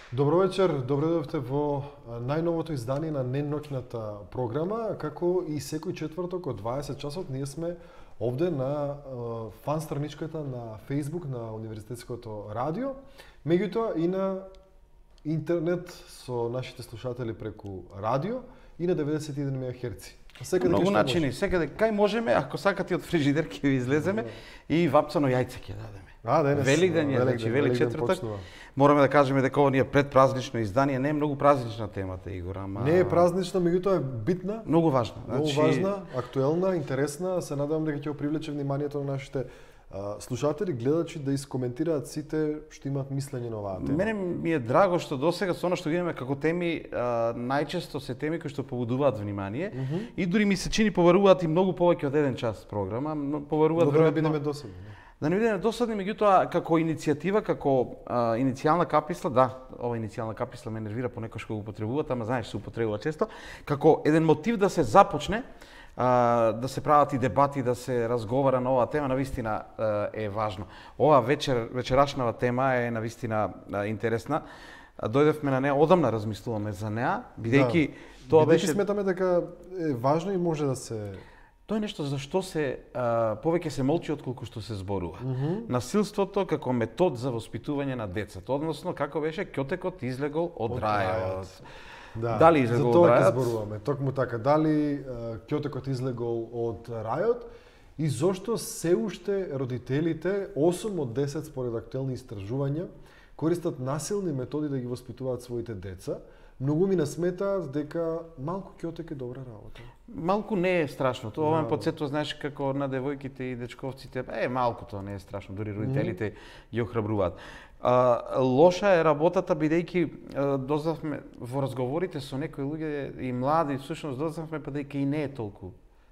Добро вечер, добре дојдовте во најновото издание на неноќната програма, како и секој четврток од 20 часот ние сме овде на фан страничката на Facebook на Универзитетското радио, меѓутоа и на интернет со нашите слушатели преку радио и на 91 МГц. Многу начини, секаде кај можеме, ако сакате од фрижидер ќе ви излеземе и вапцано јајце ќе дадеме. Великден е, значи велик четвртак. Мораме да кажеме дека ова ни е предпразнично издание, не е многу празнична темата, Игор, ама не е празнична, меѓутоа е битна. Многу важна. Многу важна, актуелна, интересна. Се надевам дека ќе привлече вниманието на нашите слушатели, гледачи да искоментираат сите што имаат мислење на оваа тема. Мене ми е драго што досега со она што ги имаме како теми, најчесто се теми кои што побудуваат внимание и дури ми се чини поваруваат и многу повеќе од еден час програма, поваруваат да не бидеме досадни. Да не бидеме досадни, меѓутоа како иницијатива, како иницијална каписла, да, ова иницијална каписла ме нервира понекогаш кога го употребуваат, ама знаеш се употребува често, како еден мотив да се започне да се прават и дебати, да се разговара на оваа тема, навистина е важно. Ова вечерашнава тема е навистина интересна. Дојдевме на неа, одамна размислуваме за неа, бидејќи тоа беше... сметаме дека е важно и може да се... Тоа е нешто за што се повеќе се молчи отколку што се зборува. Насилството како метод за воспитување на децата, односно како беше ќотекот излегол од рајот. Да, дали излегол од рајот? За тоа ќе зборуваме, токму така, дали ќотекот излегол од рајот и зошто се уште родителите, 8 од 10 според актуелни истражувања, користат насилни методи да ги воспитуваат своите деца. Многу ми насметаат дека малку ќотек е добра работа. Малку не е страшно. Тоа ме потсетува, знаеш, како на девојките и дечковците, малку тоа не е страшно, дури родителите ги охрабруваат. Лоша е работата, бидејќи дознавме во разговорите со некои луѓе и млади, всушност дознавме па дека и не е толку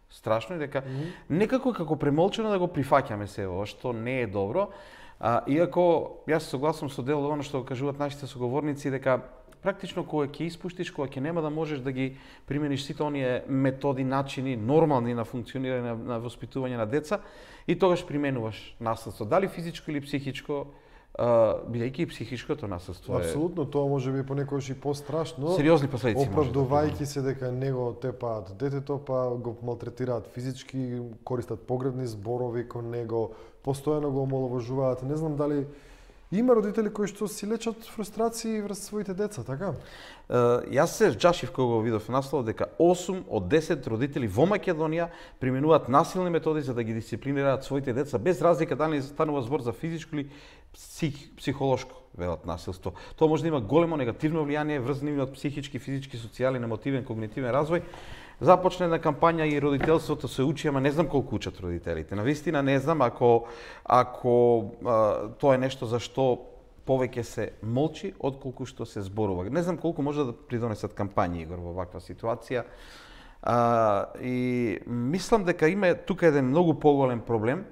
страшно и дека некако како премолчено да го прифаќаме се ова, што не е добро. Иако јас се согласувам со дел она што кажуваат нашите соговорници дека практично кога ќе испуштиш, кога ќе нема да можеш да ги примениш сите оние методи, начини нормални на функционирање на воспитување на деца и тогаш применуваш насилство, дали физичко или психичко, бидејќи и психичкото насилство е... Апсолутно, тоа може би понекогаш и пострашно. Сериозни последици може да оправдувајќи се дека него тепаат детето, па го малтретираат физички, користат погребни зборови кон него, постојано го омаловажуваат. Не знам дали има родители кои што си лечат фрустрации врз своите деца, така? Јас се вџашив кога го видов наслов дека 8 од 10 родители во Македонија применуваат насилни методи за да ги дисциплинираат своите деца, без разлика дали станува збор за физичко или психолошко велат насилство. Тоа може да има големо негативно влијание врз нивниот психички, физички, социјален, емотивен, когнитивен развој. Започне на кампања и родителството се учи, ама не знам колку учат родителите. Навистина не знам ако тоа е нешто за што повеќе се молчи отколку што се зборува. Не знам колку може да придонесат кампањи, Игор, во ваква ситуација. И мислам дека има тука еден многу поголем проблем.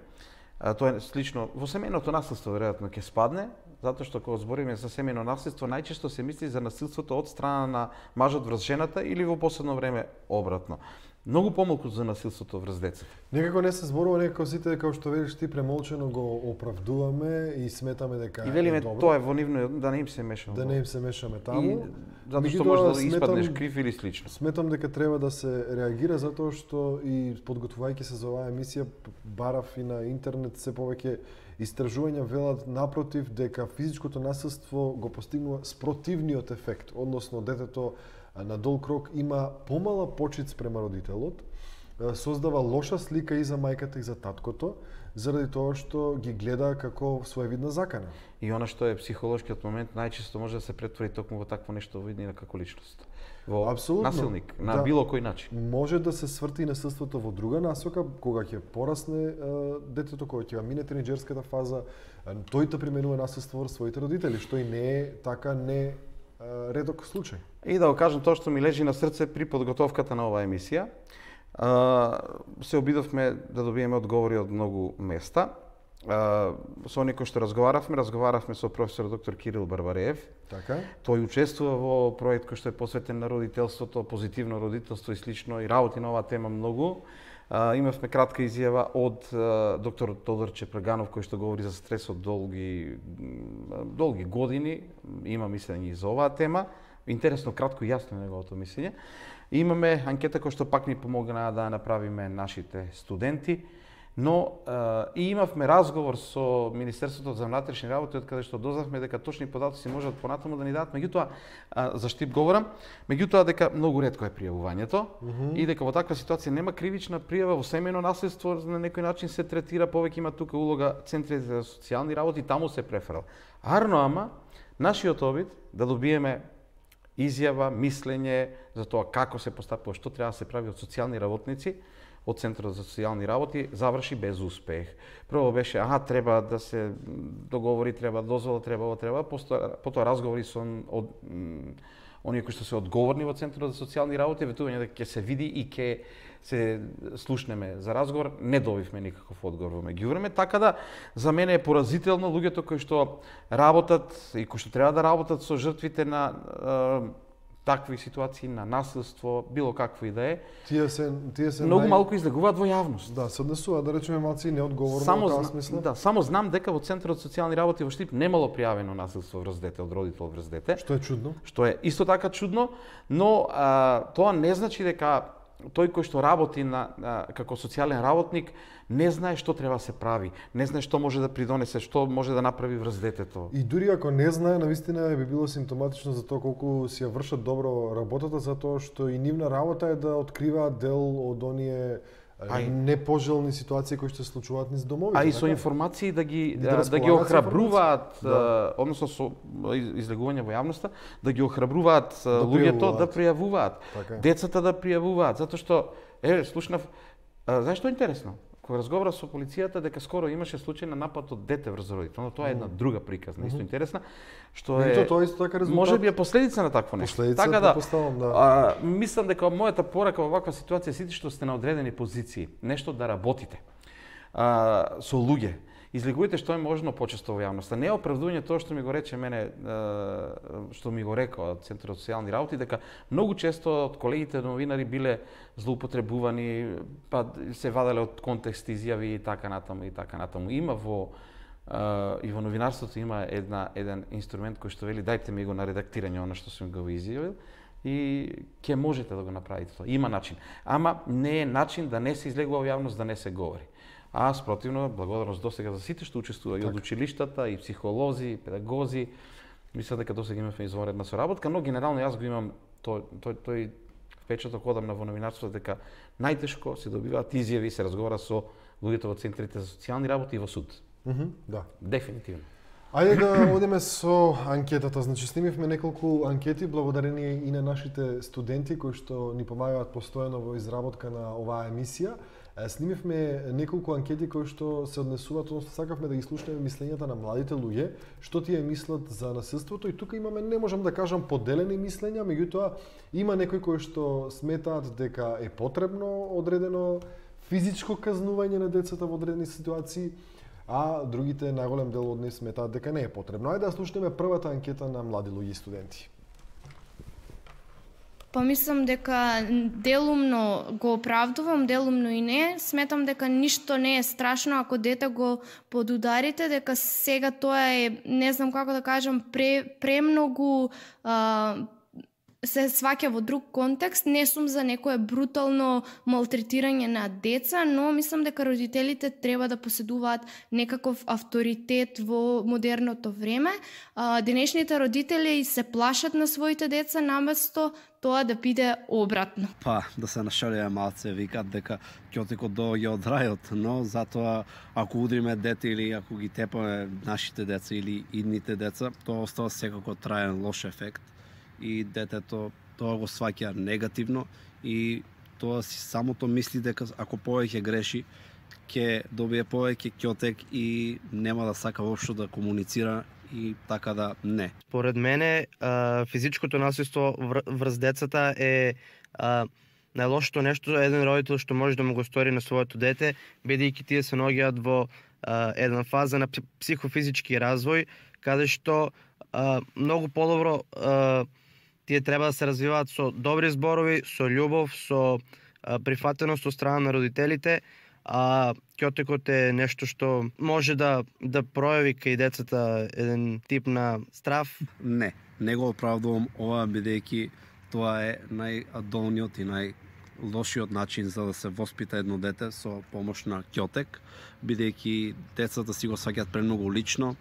Тоа е слично во семејното насилство веројатно ќе спадне, затоа што кога збориме за семејно насилство, најчесто се мисли за насилството од страна на мажот врз жената или во последно време обратно. Многу помалку за насилството врз децата. Некако не се зборува, некако сите, како што велиш ти, премолчено го оправдуваме и сметаме дека и велиме тоа е во нивно, да не им се мешаме. Да не им се мешаме таму. Затоа што може да испаднеш крив или слично. Сметам дека треба да се реагира затоа што и подготвувајќи се за оваа емисија барав и на интернет се повеќе истражувања велат напротив дека физичкото насилство го постигнува спротивниот ефект, односно детето на долг рок има помала почит спрема родителот, создава лоша слика и за мајката и за таткото, заради тоа што ги гледа како своевидна закана. И она што е психолошкиот момент најчесто може да се претвори токму во такво нешто во иднина како личност. Во насилник, на било кој начин. Може да се сврти насилството во друга насока, кога ќе порасне детето, кога ќе мине тинеџерската фаза, тој да применува насилство врз своите родители, што и не е така редок случај. И да го кажам тоа што ми лежи на срце при подготовката на оваа емисија. Се обидовме да добиеме одговори од многу места. Со некој што разговаравме со професор доктор Кирил Барбареев. Така. Тој учествува во проект кој што е посветен на родителството, позитивно родителство и слично и работи на оваа тема многу. Имавме кратка изјава од доктор Тодор Чепреганов кој што говори за стресот долги години, има мислење и за оваа тема. Интересно, кратко и јасно неговото мислење. Имаме анкета која што пак ни помогна да направиме нашите студенти, но и имавме разговор со Министерството за внатрешни работи, од каде што дознавме дека точни податоци можат понатаму да ни дадат, меѓутоа за Штип говорам, меѓутоа дека многу ретко е пријавувањето и дека во таква ситуација нема кривична пријава, во семејно наследство на некој начин се третира, повеќе има тука улога центрите за социјални работи, таму се преферал. Арно ама нашиот обид да добиеме изјава, мислење за тоа како се постапува, што треба да се прави од социјални работници, од Центарот за социјални работи, заврши без успех. Прво беше, треба да се договори, треба дозвола, треба, потоа разговори со оние кои што се одговорни во Центарот за социјални работи, ветување дека ќе се види и ќе се слушнеме за разговор, не добивме никаков одговор во меѓувреме, така да за мене е поразително луѓето кои што работат и кои што треба да работат со жртвите на такви ситуации, на насилство, било какво и да е. Тие се многу малку излегуваат во јавност. Да, се однесуваат, да речеме, малци неодговорно во таа смисла. Да, само знам дека во Центарот за социјални работи во Штип немало пријавено насилство врз дете од родител врз дете. Што е чудно. Што е исто така чудно, но тоа не значи дека тој кој што работи како социјален работник не знае што треба да се прави, не знае што може да придонесе, што може да направи врз детето. И дури ако не знае, навистина би било симптоматично за тоа колку си ја вршат добро работата, затоа што и нивна работа е да откриваат дел од оние непожелни ситуации кои што се случуваат низ домовите. И со информации да ги охрабруваат, односно со излегување во јавноста, да ги охрабруваат луѓето да пријавуваат, децата да пријавуваат, затоа што слушнав, знаеш што е интересно? Кога разговара со полицијата дека скоро имаше случај на напад од дете врз родител, но тоа е една друга приказна, исто интересна, што е тоа исто така резултат. Може би е последица на такво нешто. Така да, мислам дека мојата порака во ваква ситуација сите што сте на одредени позиции, нешто да работите со луѓе. Излегувате што е можно почесто во јавноста. Не е оправдување тоа што ми го рече мене, што ми го рекоа од Центарот за социјални работи, дека многу често од колегите новинари биле злоупотребувани, па се ваделе од контекст изјави и така натаму. Има и во новинарството има еден инструмент кој што вели дајте ми го на редактирање она што сум го изјавил и ќе можете да го направите тоа. Има начин. Ама не е начин да не се излегува во јавност, да не се говори. А спротивно, благодарност досега за сите што учествува и од училиштата, и психолози, и педагози. Мислам дека досега имавме извонредна соработка, но генерално јас го имам тој впечаток одамна во новинарството дека најтешко се добиваат изјави и се разговара со луѓето во центрите за социјални работи и во суд. Да. Дефинитивно. Ајде да одиме со анкетата. Значи, снимивме неколку анкети благодарение и на нашите студенти кои што ни помагаат постојано во изработка на оваа емисија. Снимивме неколку анкети кои што се однесуваат, односно сакавме да ги слушнеме мислењата на младите луѓе, што тие мислат за насилството, и тука имаме, не можам да кажам поделени мислења, меѓутоа има некои кои што сметаат дека е потребно одредено физичко казнување на децата во одредени ситуации, а другите, наголем дел од нив, сметаат дека не е потребно. Ајде да слушнеме првата анкета на млади луѓе и студенти. Па мислам дека делумно го оправдувам, делумно и не. Сметам дека ништо не е страшно ако дете го подударите, дека сега тоа е, не знам како да кажам, премногу се сваќа во друг контекст. Не сум за некое брутално малтретирање на деца, но мислам дека родителите треба да поседуваат некаков авторитет во модерното време. Денешните родители се плашат на своите деца наместо тоа да биде обратно. Па, да се нашалија малце, викат дека ќотикот доаѓа од рајот, но затоа ако удриме дете или ако ги тепаме нашите деца или идните деца, тоа остава секако траен лош ефект и детето тоа го сваќа негативно и тоа си самото мисли дека ако повеќе греши ќе добие повеќе ќотек и нема да сака воопшто да комуницира и така да не. Според мене физичкото насилство врз децата е најлошото нешто еден родител што може да му го стори на своето дете, бидејќи тие се наоѓаат во една фаза на психофизички развој, каде што многу подобро тие треба да се развиваат со добри зборови, со љубов, со прифатеност од страна на родителите, а ќотекот е нешто што може да пројави кај децата еден тип на страв. Не го оправдувам ова, бидејќи тоа е најдолниот и најлошиот начин за да се воспита едно дете со помош на ќотек, бидејќи децата си го сваќаат премногу лично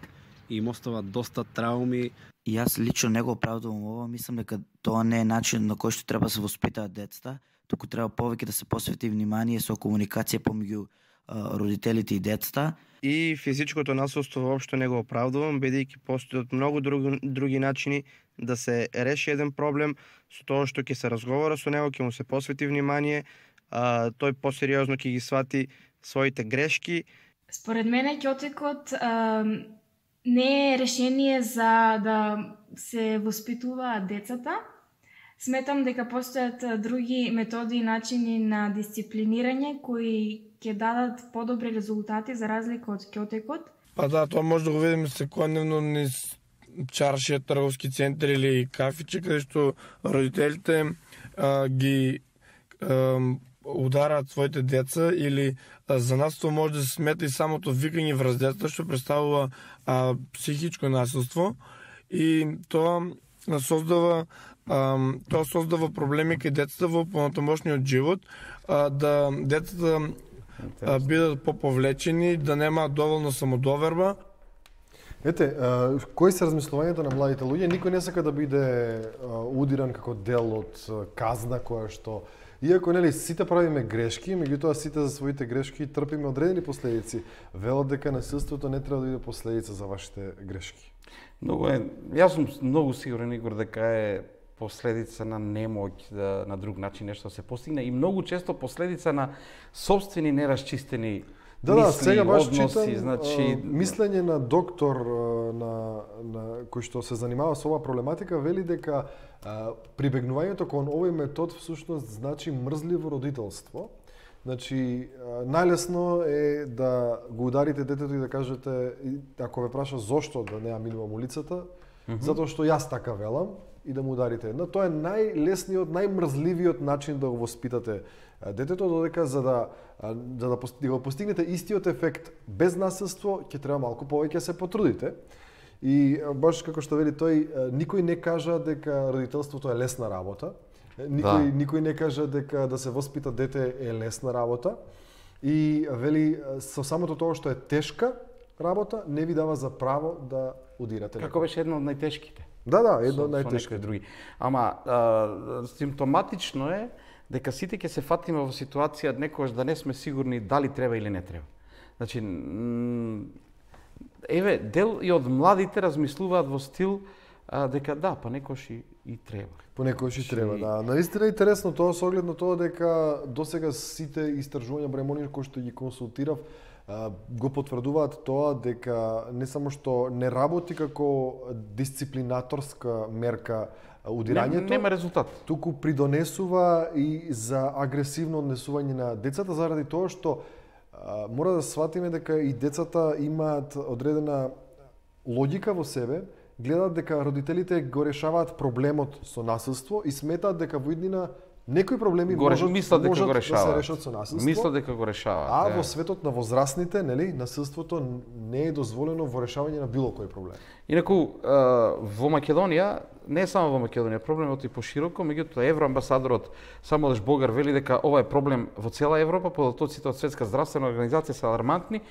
и им остават доста трауми. И јас лично не го оправдувам ова, мислам дека тоа не е начин на кој што треба да се воспитаат децата, туку треба повеќе да се посвети внимание со комуникација помеѓу родителите и децата. И физичкото насилство воопшто не го оправдувам, бидејќи постојат многу други начини да се реши еден проблем со тоа што ќе се разговара со него, ќе му се посвети внимание, тој посериозно ќе ги свати своите грешки. Според мене ќотекот не е решение за да се воспитуваат децата. Сметам дека постојат други методи и начини на дисциплинирање кои ќе дадат подобри резултати за разлика од ќотекот. Па да, тоа може да го видиме секојдневно низ чаршија, трговски центри или кафиче, каде што родителите ги удараат своите деца, или за нас тоа може да се смета и самото викање врз децата, што представува психичко насилство, и тоа создава проблеми кај децата во понатамошниот живот, да децата бидат поповлечени, да немаат доволно самодоверба. Ете, кои се размислувањето на младите луѓе? Никој не сака да биде удиран како дел од казна која што, иако нели сите правиме грешки, меѓутоа сите за своите грешки трпиме одредени последици. Велат дека насилството не треба да биде последица за вашите грешки. Јас сум многу сигурен, Игор, дека е последица на немоќ на друг начин нешто се постигне и многу често последица на сопствени нерасчистени мисли, сега баш односи, читам, значи мислење на доктор кој што се занимава со оваа проблематика, вели дека прибегнувањето кон овој метод всушност значи мрзливо родителство. Значи, најлесно е да го ударите детето и да кажете, ако ве праша зошто да не ја милувам улицата, затоа што јас така велам, и да му ударите. Но тоа е најлесниот, најмрзливиот начин да го воспитате детето, додека за да го постигнете истиот ефект без насилство, ќе треба малку повеќе се потрудите. И баш како што вели тој, никој не кажа дека родителството е лесна работа. Никој не кажа дека да се воспита дете е лесна работа. И вели со самото тоа што е тешка работа не ви дава за право да удирате. Како беше едно од најтешките. Да, едно од најтешките. Други. Ама симптоматично е дека сите ќе се фатиме во ситуација некогаш да не сме сигурни дали треба или не треба. Значи, еве, дел и од младите размислуваат во стил дека да, па некогаш и треба. Понекогаш и треба, да. Наистина е интересно тоа со оглед на тоа дека досега сите истражувања бремони кои што ги консултирав го потврдуваат тоа дека не само што не работи како дисциплинаторска мерка удирањето, нема резултат. Туку придонесува и за агресивно однесување на децата заради тоа што мора да сватиме дека и децата имаат одредена логика во себе, гледаат дека родителите го решаваат проблемот со насилство и сметаат дека во иднина некои проблеми можат да се решат со насилство. Мислат дека го решаваат. А во светот на возрастните, нели, насилството не е дозволено во решавање на било кој проблем. Инаку во Македонија, не само во Македонија, проблемот е пошироко, меѓутоа евроамбасадорот Самуел Богар вели дека ова е проблем во цела Европа, податоците од Светска здравствена организација се алармантни.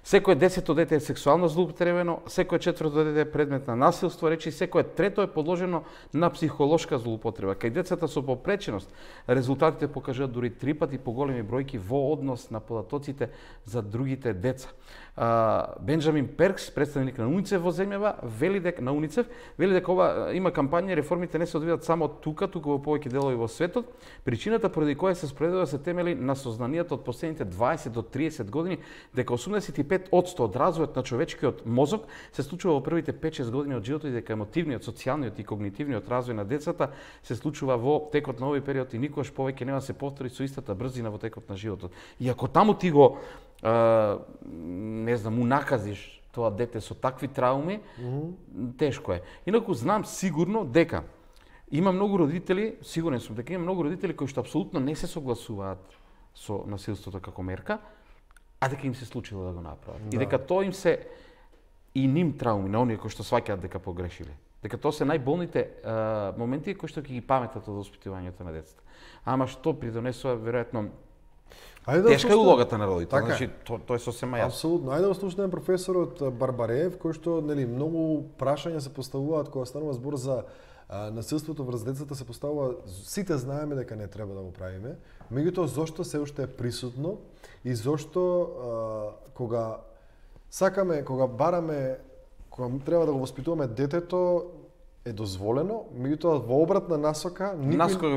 Секое 10-то дете е сексуално злоупотребено, секое 4-то дете е предмет на насилство, речи секое 3-то е подложено на психолошка злоупотреба. Кај децата со попреченост, резултатите покажуваат дури 3 пати поголеми бројки во однос на податоците за другите деца. Бенџамин Перкс, представник на УНИЦЕФ во земјава, вели дека ова има кампања и реформите не се одвиваат само тука во повеќе делови во светот. Причината поради која се спроведува се темели на сознанието од последните 20 до 30 години дека 85% од развојот на човечкиот мозок се случува во првите 5-6 години од животот и дека емотивниот, социјалниот и когнитивниот развој на децата се случува во текот на овој период и никогаш повеќе нема да се повтори со истата брзина во текот на животот. И ако таму ти го не знам, унаказиш тоа дете со такви трауми, тешко е. Инаку знам сигурно дека Има многу родители, сигурен сум дека има многу родители кои што апсолутно не се согласуваат со насилството како мерка, а дека им се случило да го направат. И дека тоа им се и ним трауми на оние кои што сваќаат дека погрешиле. Дека тоа се најболните моменти кои што ќе ги паметат од воспитувањето на децата. Ама што придонесува веројатно тешка е улогата на родител, значи тоа е сосема јасно. Апсолутно. Ајде да слушнеме професорот Барбареев, кој што многу прашања се поставуваат кога станува збор за насилството врз децата, се поставува, сите знаеме дека не треба да го правиме, меѓутоа зошто се уште е присутно и зошто кога сакаме, кога бараме, кога треба да го воспитуваме детето, е дозволено, меѓутоа во обратна насока, наскога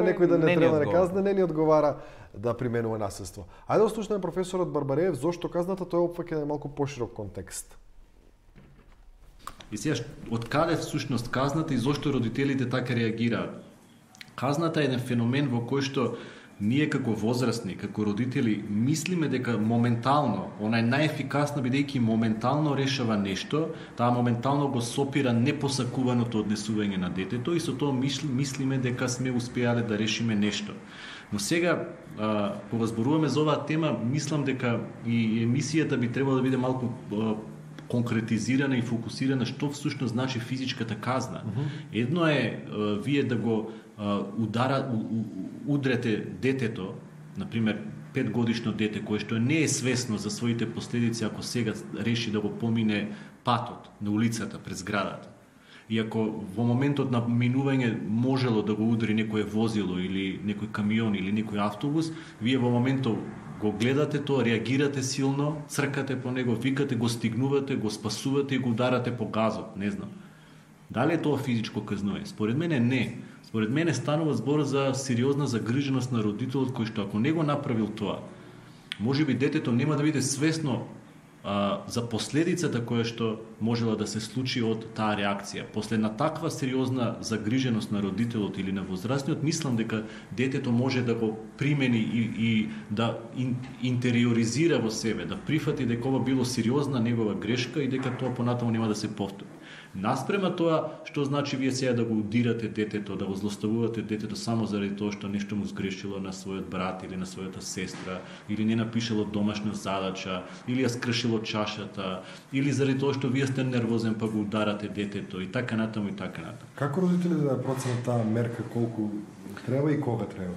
некој да не треба да казне, не ни одговара да применува насилство. Ајде да слушнеме професорот Барбареев зошто казната тоа опфаќа малку поширок контекст. И сега, од каде всушност казната и зошто родителите така реагираат? Казната е еден феномен во кој што ние како возрастни, како родители, мислиме дека моментално, она е најефикасна бидејќи моментално решава нешто, таа моментално го сопира непосакуваното однесување на детето и со тоа мислиме дека сме успеале да решиме нешто. Но сега, кога зборуваме за оваа тема, мислам дека и емисијата би требало да биде малку конкретизирана и фокусирана што всушност значи физичката казна. Едно е вие да го удрете детето, например 5-годишно дете кое што не е свесно за своите последици ако сега реши да го помине патот на улицата пред зградата. И ако во моментот на минување можело да го удри некое возило или некој камион или некој автобус, вие во моментот го гледате тоа, реагирате силно, цркате по него, викате, го стигнувате, го спасувате и го ударате по газот, не знам. Дали е тоа физичко казнување? Според мене не. Според мене станува збор за сериозна загриженост на родителот кој што ако не го направил тоа, можеби детето нема да биде свесно за последицата која што можела да се случи од таа реакција. После на таква сериозна загриженост на родителот или на возрастниот, мислам дека детето може да го примени и да интериоризира во себе, да прифати дека ова било сериозна негова грешка и дека тоа понатаму нема да се повтори. Наспрема тоа, што значи вие сега да го удирате детето, да го злоставувате детето само заради тоа што нешто му сгрешило на својот брат или на својата сестра, или не напишало домашна задача, или ја скршило чашата, или заради тоа што вие сте нервозен па го ударате детето и така натаму и така натаму. Како родителите да проценат таа мерка колку треба и кога треба?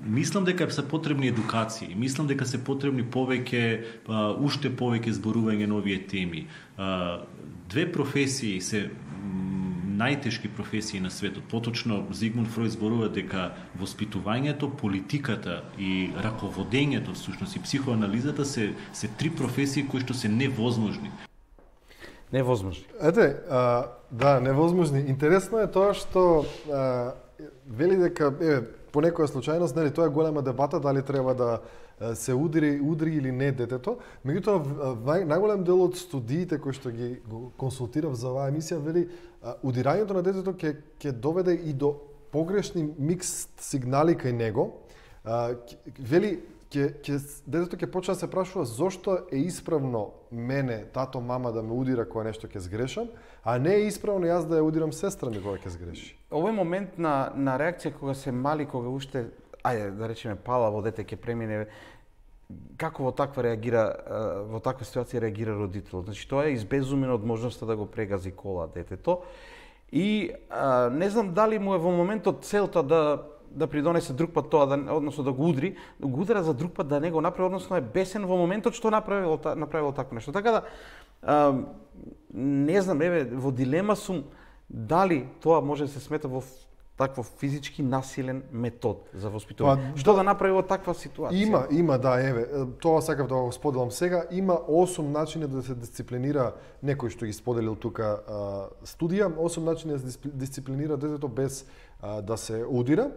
Мислам дека се потребни едукации, мислам дека се потребни уште повеќе зборување на овие теми. Две професии се најтешки професии на светот. Поточно Зигмунд Фројд зборува дека воспитувањето, политиката и раководењето, всушност и психоанализата се три професии кои што се невозможни. Невозможни. Ете, да, невозможни. Интересно е тоа што вели дека по некоја случајност, нели, тоа е голема дебата дали треба да се удри или не детето. Меѓутоа, најголем дел од студиите кои што ги консултирав за оваа емисија вели удирањето на детето ќе доведе и до погрешни микс сигнали кај него. Вели детето ќе почне да се прашува зошто е исправно мене, тато, мама да ме удира кога нешто ќе сгрешам, а не е исправно јас да ја удирам сестра ми кога ќе сгреши. Овој момент на реакција кога се мали, кога уште, да речеме, палаво дете ќе премине, како во таква ситуација реагира родителот. Значи тоа е избезумен од можноста да го прегази кола детето и не знам дали му е во моментот целта да придонесе друг пат тоа, односно да го удара за друг пат да не го направи, односно е бесен во моментот што направило такво нешто. Така да, не знам, во дилема сум дали тоа може да се смета во такво физички насилен метод за воспитување. Што да направи во таква ситуација? Има, да, тоа сакав да го споделам сега. Има 8 начини да се дисциплинира, некој што ги споделил тука студија, 8 начини да се дисциплинира детето без да се удира.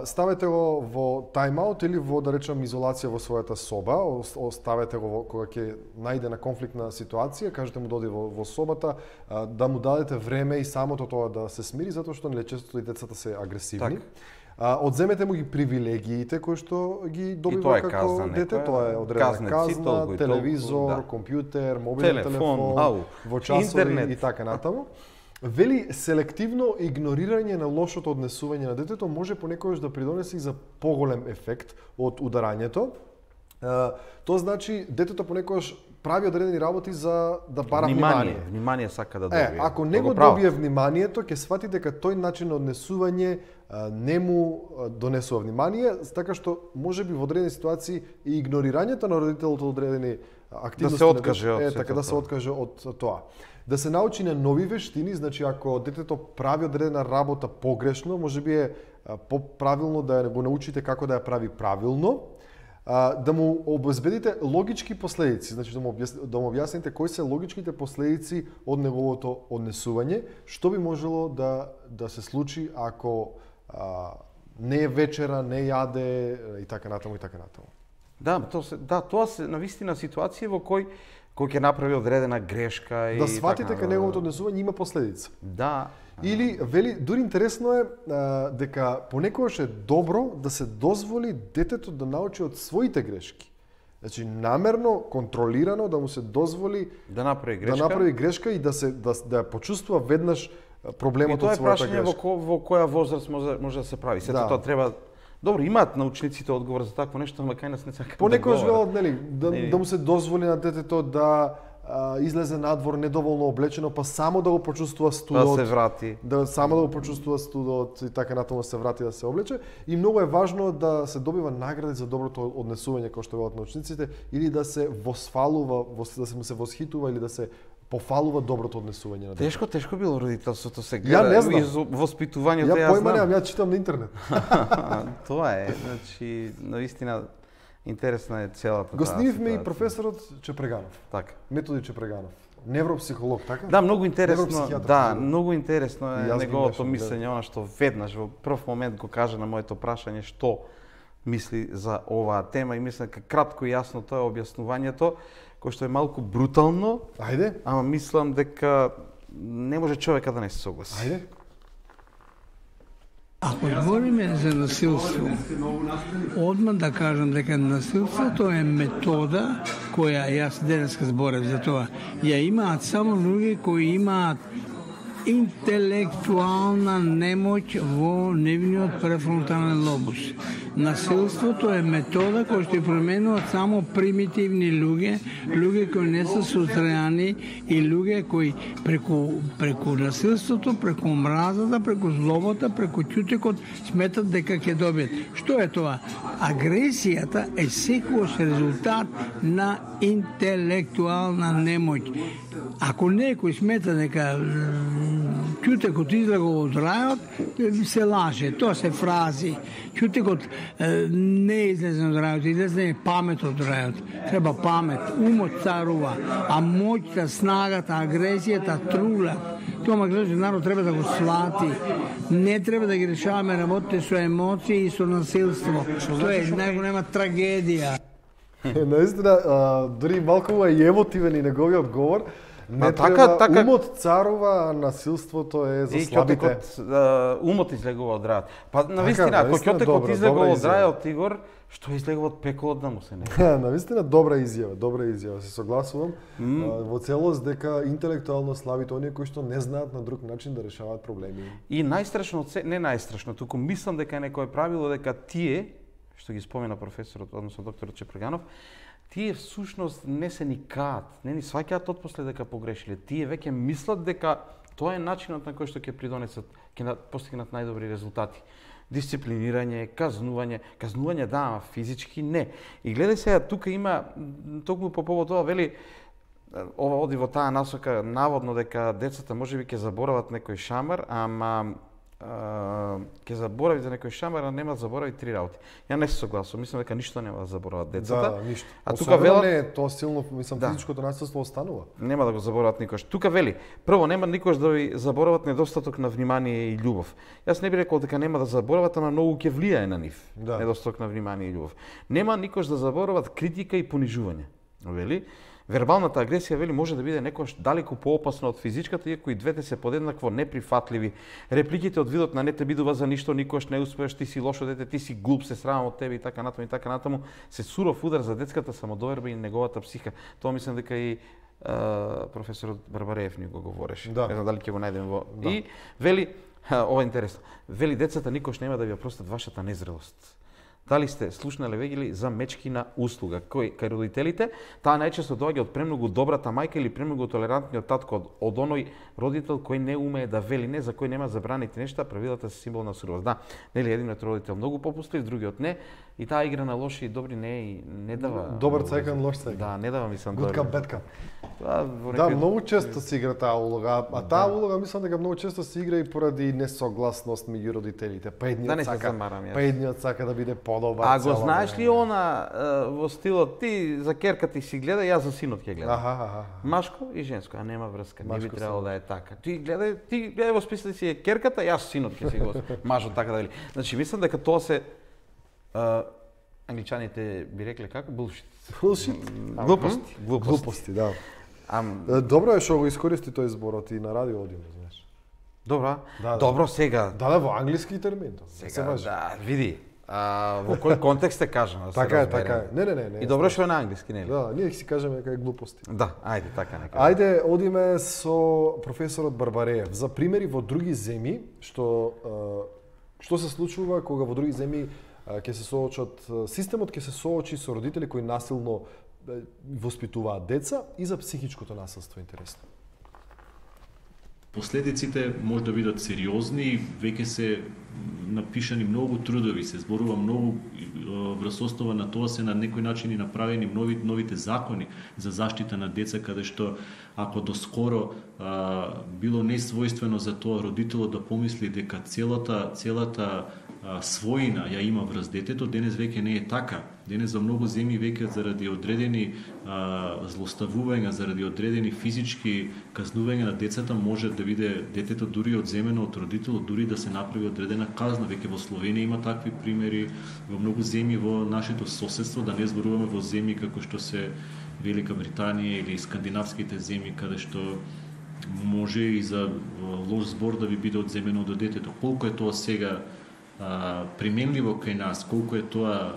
Ставете го во тайм-аут или во, да речем, изолација во својата соба, оставете го кога ќе најде на конфликтна ситуација, кажете му доди во собата, да му дадете време и самото тоа да се смири, затоа што често и децата се агресивни. Одземете му ги привилегиите кои што ги добива како дете, тоа е одредена казна, телевизор, компјутер, мобилен телефон, во часови и така натаму. Вели, селективно игнорирање на лошото однесување на детето може понекогаш да придонесе и за поголем ефект од ударањето. Тоа значи детето понекогаш прави одредени работи за да бара внимание. Внимание сака да добие. Ако не го добие вниманието, ќе свати дека тој начин на однесување не му донесува внимание, така што можеби во одредени ситуации и игнорирањето на родителот од одредени активности да се откаже од така да се откаже од тоа. Да се научи на нови вештини, значи ако детето прави одредена работа погрешно, можеби е поправилно да го научите како да ја прави правилно. Да му обезбедите логички последици, значи да му објасните кои се логичките последици од неговото однесување, што би можело да се случи ако не е вечера, не јаде и така натаму и така натаму. Тоа се навистина ситуација во кој ќе направи одредена грешка и да сватите дека неговото однесување има последица. Да. Или вели, дури интересно е дека понекогаш е добро да се дозволи детето да научи од своите грешки. Значи намерно, контролирано да му се дозволи да направи грешка и да ја почувствува веднаш проблемот од својата грешка. И тоа е прашање во која возраст може да се прави. Сето тоа треба. Добро, имаат научниците одговор за такво нешто, ама кај нас не сакаат да говорат. Понекогаш велат, нели, да му се дозволи на детето да излезе надвор недоволно облечено, па само да го почувствува студот. Да се врати. Само да го почувствува студот и така натаму се врати да се облече. И многу е важно да се добива награди за доброто однесување, кој што велат научниците, или да се восфалува, да се му се восхитува или да се пофалува доброто однесување на детето. Тешко било родителството се гледа и воспитувањето. Ја појма немам, ја читам на интернет. Тоа е, значи, навистина интересна е целата таа. Гостивме и професорот Чепреганов. Така. Методи Чепреганов. Невропсихолог, така? Да, многу интересно. Многу интересно е неговото мислење, она што веднаш во прв момент го кажа на моето прашање што мисли за оваа тема и мислам дека кратко и јасно тоа е објаснувањето, кој што е малку брутално. Ајде. Ама мислам дека не може човека да не се согласи. Ајде. Ако збориме за насилство, одма да кажам дека насилството е метода која јас денеска зборев за тоа. Ја имаат само луѓе кои имаат интелектуална немоќ во нивниот префронтален лобус. Насилството е метода која што ја променуваат само примитивни луѓе кои не се сустреани и луѓе кои преку насилството, преку мразата, преку злобата, преку ќутекот сметат дека ќе добиат. Што е тоа? Агресијата е секогаш резултат на интелектуална немоќ. Ако некој смета дека ќутекот излега од рајот, се лаже, тоа се фрази. Ќутекот не излезе од рајот, излезе памет од рајот. Треба памет, умот царува, а моќта, снагата, агресијата трулат. Тоа македонски народ треба да го свати. Не треба да ги решаваме работите со емоции и со насилство. Тоа е најголема трагедија. Наистина, дури малку е емотивен и неговиот говор. Не треба, умот царува, а насилството е за слабите. Умот излегува од рајот. Па навистина, ако ќотекот излегува од рајот, Игор, што излегува од пеколот да му се не. Навистина добра изјава, се согласувам. Во целост дека интелектуално слабите оние кои што не знаат на друг начин да решаваат проблеми. И најстрашно, не најстрашно, туку мислам дека некој правило дека тие, што ги спомена професорот, односно докторот Чепреганов, тие всушност не се ни каат, не ни сваќаат отпосле дека погрешиле. Тие веќе мислат дека тоа е начинот на кој што ќе придонесат, ќе постигнат најдобри резултати. Дисциплинирање, казнување да, ама физички не. И гледај сега, тука има, токму по повод тоа, вели, ова оди во таа насока, наводно дека децата можеби ќе заборават некој шамар, ама ќе заборави за некој шамар, а нема да заборави 3 работи. Ја не се согласувам, мислам дека ништо нема да заборават децата. Да, ништо. А тука велат не тоа силно, мислам, физичкото насилство останува. Нема да го заборават никош. Тука вели, прво нема никош да ви заборават недостаток на внимание и љубов. Јас не би рекол дека нема да заборават, ама многу ќе влијае на нив. Да. Недостаток на внимание и љубов. Нема никош да заборават критика и понижување. Вели, вербалната агресија вели може да биде некош далеку поопасна од физичката, иако и двете се подеднакво неприфатливи. Репликите од видот на не те бидува за ништо, никош не успееш, ти си лошо дете, ти си глуп, се срамам од тебе и така натаму се суров удар за детската самодоверба и неговата психа. Тоа мислам дека и професорот Барбареев ни го говореше. Да. Не знам дали ќе го најдем во... И вели, ова е интересно, вели децата никош нема да ви ја простат вашата незрелост. Дали сте слушнале веќе за мечки на услуга, кој кај родителите, таа најчесто доаѓа од премногу добрата мајка или премногу толерантниот татко, од оној родител кој не умее да вели не, за кој нема забраните нешта, правилата се символ на суровост. Да, нели едниот родител многу попустлив, другиот не, и таа игра на лоши и добри не дава. Добар цајкан, лош цајкан. Да, не дава мислам Good cup, bad cup. Да, многу често се игра таа улога, а таа улога мислам дека многу често се игра и поради несогласност меѓу родителите. Па едниот сака да биде подобар. А го знаеш ли она во стилот ти за керка ти си гледа, јас за синот ќе гледам. Машко и женско, а нема врска, не би требало да е така. Ти гледај во списъци си керката, јас синот ќе си го мажот така да вели. Значи мислам дека тоа се англичаните би рекле како bullshit. Глупости, да. Добро е што го искористи тој зборот и на радио одиме, знаеш. Добро. Добро сега. Да, во англиски термин. Сега, да, види. Во кој контекст е кажано? Така е. Не. И добро што е на англиски, нели? Да, ние си кажеме дека е глупости. Да, ајде, така нека. Ајде, одиме со професорот Барбареев за примери во други земји што се случува кога во други земји ќе се соочат, системот ќе се соочи со родители кои насилно воспитуваат деца и за психичкото насилство, интересно. Последиците може да бидат сериозни, веќе се напишани многу трудови, се зборува многу врз основа на тоа се на некој начин и направени новите закони за заштита на деца, каде што ако доскоро било несвојствено за тоа родителот да помисли дека целата својина ја има врз детето, денес веќе не е така. Денес во многу земји веќе заради одредени злоставувања, заради одредени физички казнувања на децата може да биде детето дури одземено од родителот, дури да се направи одредена казна. Веќе во Словенија има такви примери, во многу земји во нашето соседство, да не зборуваме во земји како што се Велика Британија или скандинавските земји, каде што може и за лош збор да ви биде одземено од детето. Колку е тоа сега применливо кај нас, колку е тоа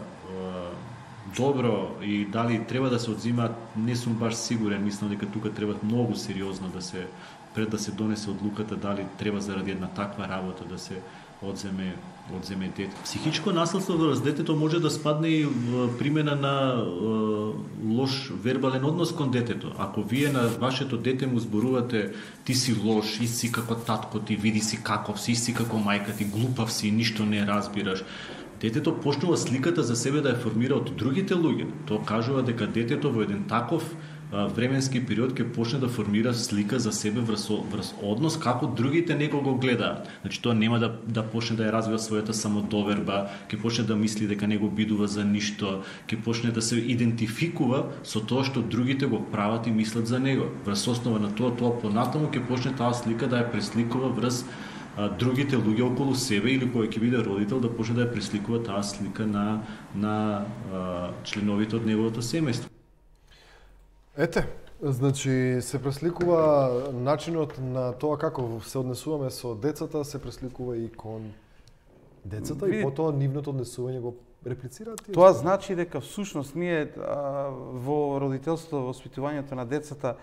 добро и дали треба да се одзимаат, не сум баш сигурен. Мислам дека тука треба многу сериозно да се пред да се донесе одлуката дали треба заради една таква работа да се одземе дете. Психичко насилство врз детето може да спадне и в примена на лош вербален однос кон детето. Ако вие на вашето дете му зборувате ти си лош, си како татко ти, види си каков си како мајка ти, глупав си, ништо не разбираш. Детето почнува сликата за себе да ја формира од другите луѓе. Тоа кажува дека детето во еден таков временски период ќе почне да формира слика за себе врз однос како другите него го гледаат. Значи тоа нема да почне да ја развива својата самодоверба, ќе почне да мисли дека не го бидува за ништо, ќе почне да се идентификува со тоа што другите го прават и мислат за него. Врз основа на тоа понатаму ќе почне таа слика да ја пресликува врз другите луѓе околу себе или кој ќе биде родител да почне да ја пресликува таа слика на членовите од неговото семејство. Ете, значи се пресликува начинот на тоа како се однесуваме со децата, се пресликува и кон децата и потоа нивното однесување го реплицираат. Тоа значи дека всушност ние во родителството, во воспитувањето на децата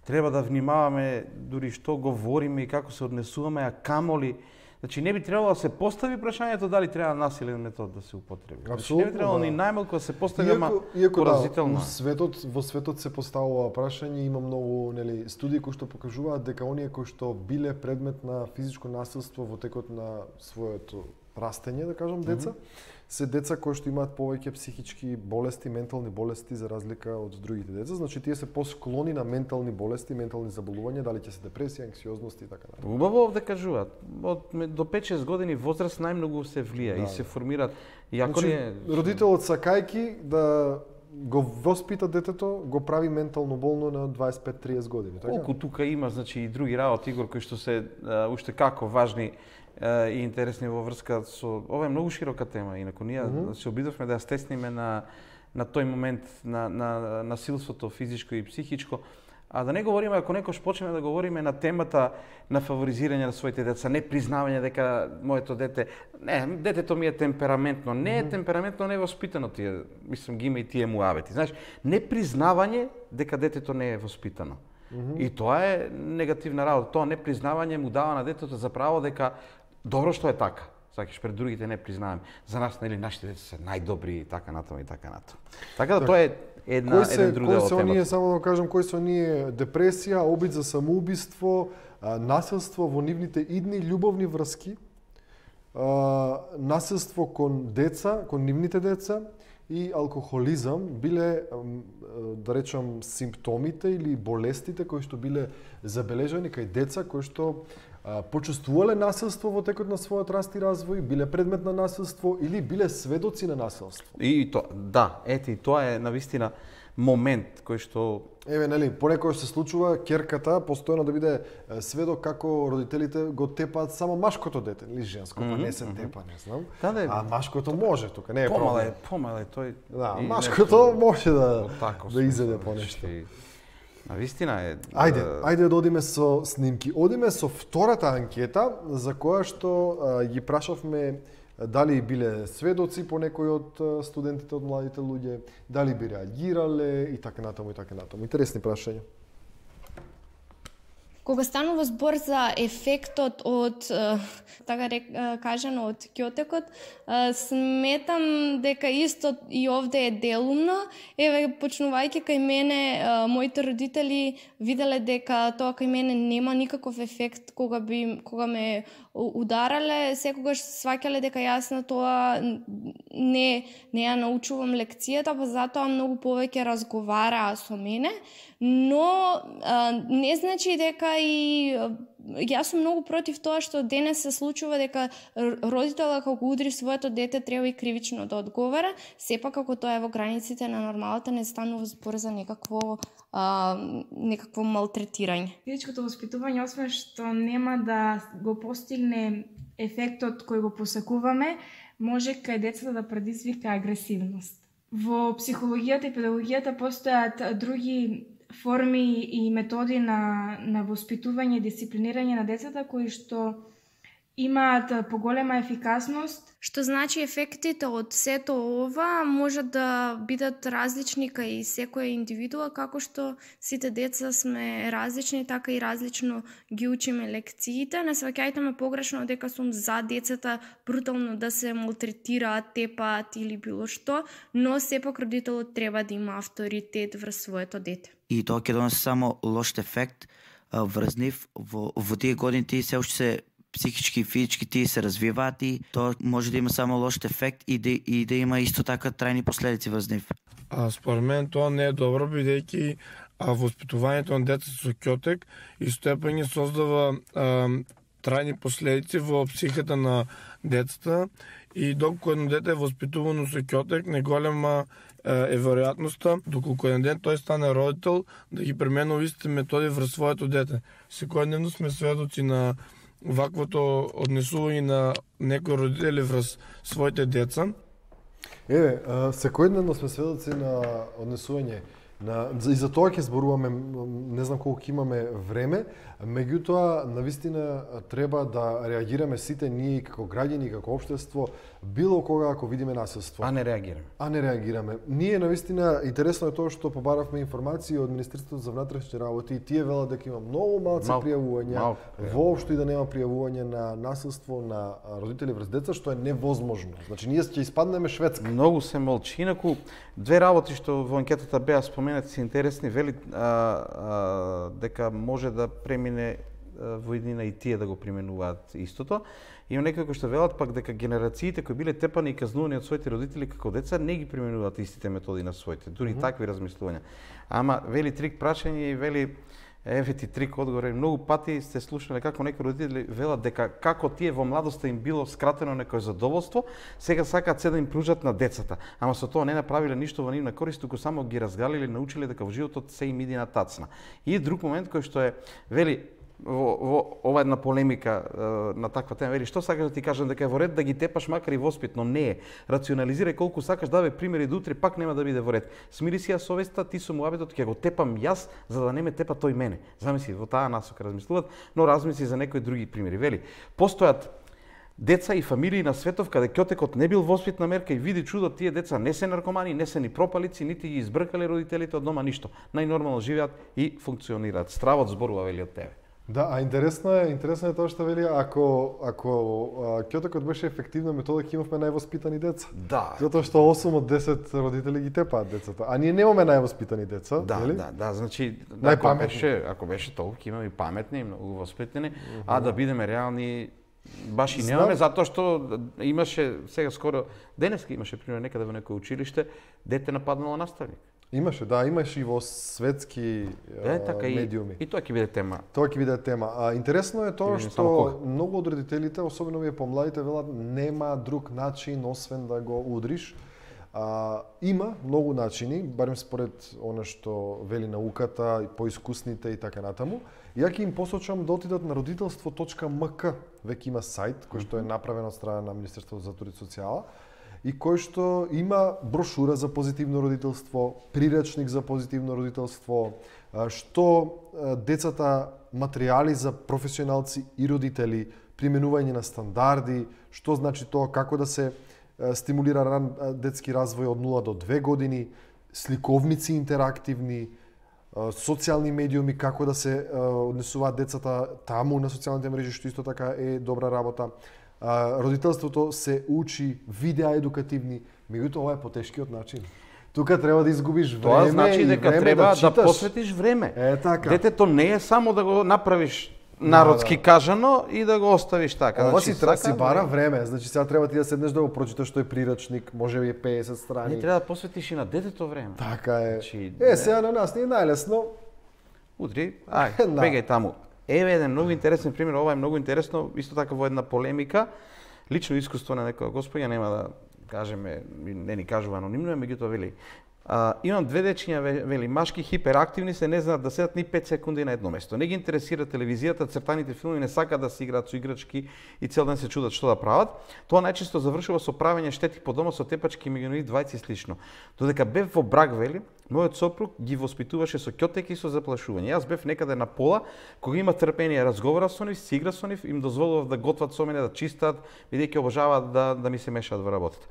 треба да внимаваме дури што говориме и како се однесуваме, а камоли. Значи не би требало да се постави прашањето дали треба насилен метод да се употреби. Значи не би требало ни најмалку да се постави поразително. Во светот се поставува прашање, има многу студии кои што покажуваат дека оние кои што биле предмет на физичко насилство во текот на своето растење, да кажам, деца, се деца кои што имаат повеќе психички болести, ментални болести за разлика од другите деца. Значи тие се посклони на ментални болести, ментални заболувања, дали ќе се депресија, анксиозност и така натаму. Убаво овде кажуваат, до 5-6 години возраст најмногу се влија и се формираат. Значи, родителот сакајки да го воспита детето, го прави ментално болно на 25-30 години, така? Колку тука има, значи и други работи, Игор, кои што се уште како важни и интересни во врска со... Ова е многу широка тема, инаку ние се обидовме да ја стесниме на тој момент на насилството физичко и психичко, а да не говориме, ако некош почнеме да говориме на темата на фаворизирање на своите деца, не признавање дека моето дете, детето ми е темпераментно, не е темпераментно, не е воспитано, тие, мислам, ги има и тие муавети. Знаеш, не признавање дека детето не е воспитано. И тоа е негативна работа. Тоа непризнавање му дава на детето за право дека добро што е така. Сакаш пред другите не признаваме. За нас, нели, нашите деца се најдобри и така натаму и така натаму. Така да тоа е еден друг дел од темата. Само да кажам, кои се оние депресија, обид за самоубиство, насилство во нивните идни љубовни врски, насилство кон деца, кон нивните деца и алкохолизам биле, да речам, симптомите или болестите кои што биле забележани кај деца кои што почувствувале насилство во текот на својот раст и развој, биле предмет на насилство или биле сведоци на насилство. И тоа, да, ете, и тоа е навистина момент кој што нели, понекогаш се случува ќерката постојано да биде сведок како родителите го тепаат само машкото дете, или женско, па не се тепа, не знам. А машкото може тука, не е проблем. Помале тој. Да, машкото може да изеде понешто. Навистина е. Ајде да одиме со снимки. Одиме со втората анкета за која што ги прашавме дали биле сведоци по некои од студентите, од младите луѓе, дали би реагирале и така натаму и така натаму. Интересни прашања. Кога станува збор за ефектот од, така кажано, од ќотекот, сметам дека исто и овде е делумно. Еве, почнувајќи кај мене, моите родители виделе дека тоа кај мене нема никаков ефект кога ме ударале, секогаш сваќале дека јас на тоа не ја научувам лекцијата, па затоа многу повеќе разговараа со мене, но не значи дека и јас сум многу против тоа што денес се случува дека родителот кога удри своето дете треба и кривично да одговара, сепак ако тоа е во границите на нормалата, не станува збор за некакво малтретирање. Физичкото воспитување, освен што нема да го постигне ефектот кој го посакуваме, може кај децата да предизвика агресивност. Во психологијата и педагогијата постојат други форми и методи на воспитување и дисциплинирање на децата кои што имаат поголема ефикасност. Што значи ефектите од сето ова може да бидат различни кај секоја индивидуа, како што сите деца сме различни, така и различно ги учиме лекциите. Не сваќајте ме погрешно дека сум за децата брутално да се малтретираат, тепаат или било што, но сепак родителот треба да има авторитет врз своето дете. И тоа ќе донесе само лош ефект врз нив. Во тие години тие се уште се психички и физички тие се развиваат и тоа може да има само лош ефект и да има исто така трајни последици врз нив. Според мен тоа не е добро, бидејќи воспитувањето на деца со ќотек истопање создава трајни последици во психиката на децата и доколку едно дете е воспитувано со ќотек, неголема е веројатноста, доколку еден ден тој стане родител, да ги применува истите методи врз своето дете. Секојдневно сме сведоци на ваквото однесување на некои родители врз своите деца. Секојдневно сме сведоци на однесување и за тоа ќе зборуваме, не знам колку имаме време, меѓутоа навистина треба да реагираме сите ние како граѓани, како општество, било кога ако видиме насилство. А не реагираме. Ние навистина интересно е тоа што побаравме информации од Министерството за внатрешни работи и тие велат дека има многу малку пријавувања, воопшто и да нема пријавување на насилство на родители врз деца, што е невозможно. Значи ние ќе испаднеме Шведска. Многу се молчи, инаку две работи што во анкетата беа споменати се интересни, вели дека може да премине во иднина и тие да го применуваат истото. Има некои кои што велат пак дека генерациите кои биле тепани и казнувани од своите родители како деца не ги применуваат истите методи на своите, дури такви размислувања. Ама вели трик прашање и вели еве ти трик одговор. Многу пати сте слушнале како некои родители велат дека како тие во младоста им било скратено некое задоволство, сега сакаат се да им пружат на децата. Ама со тоа не направиле ништо во нивна корист, туку само ги разгалиле, научиле дека во животот се им иди на тацна. И друг момент кој што е вели во ова една полемика на таква тема, вели што сакаш да ти кажам дека е во ред да ги тепаш макар и воспитно, не е. Рационализирај колку сакаш, давај примери да утре пак нема да биде во ред. Смири си ја совеста, ти со муабетот ќе го тепам јас за да не ме тепа тој мене. Замисли во таа насока размислуваат, но размисли за некои други примери. Вели, постојат деца и фамилии на светов каде ќотекот не бил воспитна мерка и види чудо, тие деца не се наркомани, не се ни пропалици, нити ги избркале родителите од дома ништо. Најнормално живеат и функционираат. Стравот зборува вели од тебе. Да, а интересно е тоа што вели, ако ќотекот беше ефективна метода, ќе имавме највоспитани деца. Да. Затоа што 8 од 10 родители ги тепаат децата, а ние немаме највоспитани деца, нели? Да, значи ако беше толку, ќе имаме и паметни, и многу воспитани, а да бидеме реални баш и немаме, затоа што имаше сега скоро денеска имаше пример некаде во некој училиште дете нападнало наставник. Имаше и во светски медиуми. И тоа ќе биде тема. Тоа ќе биде тема. Интересно е тоа што многу од родителите, особено овие помладите, велат нема друг начин освен да го удриш. Има многу начини, барем според она што вели науката, поискусните и така натаму. Ја ќе им посочам да отидат на родителство.мк, веќе има сајт кој што е направен од страна на Министерството за труд и социјала и кој што има брошура за позитивно родителство, приречник за позитивно родителство, што децата материјали за професионалци и родители, применување на стандарди, што значи тоа, како да се стимулира ран детски развој од 0 до 2 години, сликовници интерактивни, социјални медиуми, како да се однесуваат децата таму на социјалните мрежи, што исто така е добра работа. Родителството се учи видеа едукативни, меѓутоа ова е потешкиот начин. Тука треба да изгубиш време. Тоа значи дека треба да посветиш време. Така. Детето не е само да го направиш народски кажано и да го оставиш така. Ова си бара време, значи сега треба ти да седнеш да го прочиташ тој прирачник, може би 50 страни. Не треба да посветиш и на детето време. Така е. Сега на нас не е најлесно. Удри, бегај таму. Еве еден многу интересен пример, ова е многу интересно, исто така во една полемика, лично искуство на некоја господја, нема да кажеме, не ни кажува анонимно, меѓутоа вели. Имам две дечиња, вели, машки хиперактивни се, не знаат да седат ни 5 секунди на едно место. Не ги интересира телевизијата, цртаните филми, не сакаат да се играат со играчки и цел ден се чудат што да прават. Тоа најчесто завршува со правење штети по дома со тепачки, меѓу двајци и слично. Додека бев во брак, вели, мојот сопруг ги воспитуваше со ќотек и со заплашување. Јас бев некаде на пола, кога има трпение, разговарав со нив, си игра со нив, им дозволував да готват со мене, да чистат, бидејќи обожаваат да ми се мешаат во работата.